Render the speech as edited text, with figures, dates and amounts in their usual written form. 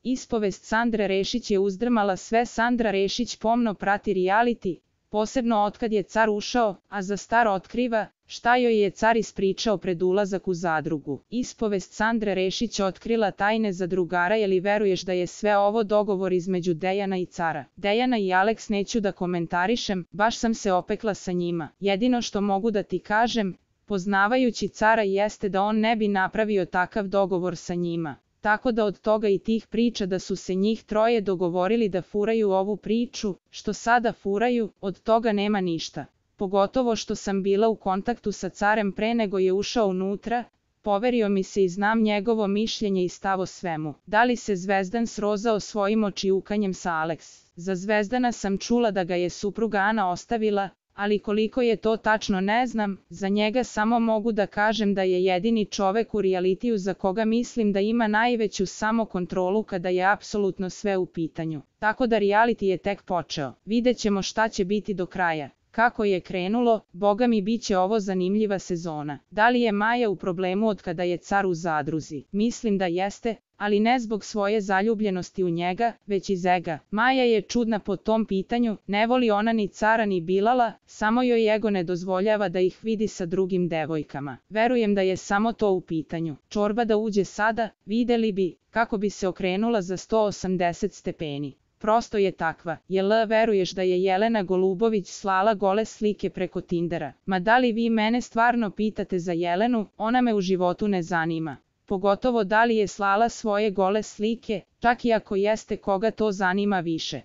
Ispovest Sandre Rešić je uzdrmala sve. Sandra Rešić pomno prati reality, posebno otkad je car ušao, a za star otkriva šta joj je car ispričao pred ulazak u zadrugu. Ispovest Sandre Rešić otkrila tajne zadrugara. Je li veruješ da je sve ovo dogovor između Dejana i cara? Dejana i Aleks neću da komentarišem, baš sam se opekla sa njima. Jedino što mogu da ti kažem, poznavajući cara, jeste da on ne bi napravio takav dogovor sa njima. Tako da od toga i tih priča da su se njih troje dogovorili da furaju ovu priču, što sada furaju, od toga nema ništa. Pogotovo što sam bila u kontaktu sa carem pre nego je ušao unutra, poverio mi se i znam njegovo mišljenje i stav o svemu. Da li se Zvezdan srozao svojim očijukanjem sa Aleks? Za Zvezdana sam čula da ga je supruga Ana ostavila, ali koliko je to tačno ne znam. Za njega samo mogu da kažem da je jedini čovek u realitiju za koga mislim da ima najveću samokontrolu kada je apsolutno sve u pitanju. Tako da reality je tek počeo. Vidjet ćemo šta će biti do kraja. Kako je krenulo, boga mi bit će ovo zanimljiva sezona. Da li je Maja u problemu od kada je car u zadruzi? Mislim da jeste, ali ne zbog svoje zaljubljenosti u njega, već iz ega. Maja je čudna po tom pitanju, ne voli ona ni cara ni Bilala, samo joj ego ne dozvoljava da ih vidi sa drugim devojkama. Verujem da je samo to u pitanju. Čorba da uđe sada, videli bi kako bi se okrenula za 180 stepeni. Prosto je takva. Jel veruješ da je Jelena Golubović slala gole slike preko Tindera? Ma da li vi mene stvarno pitate za Jelenu? Ona me u životu ne zanima. Pogotovo da li je slala svoje gole slike, čak i ako jeste, koga to zanima više.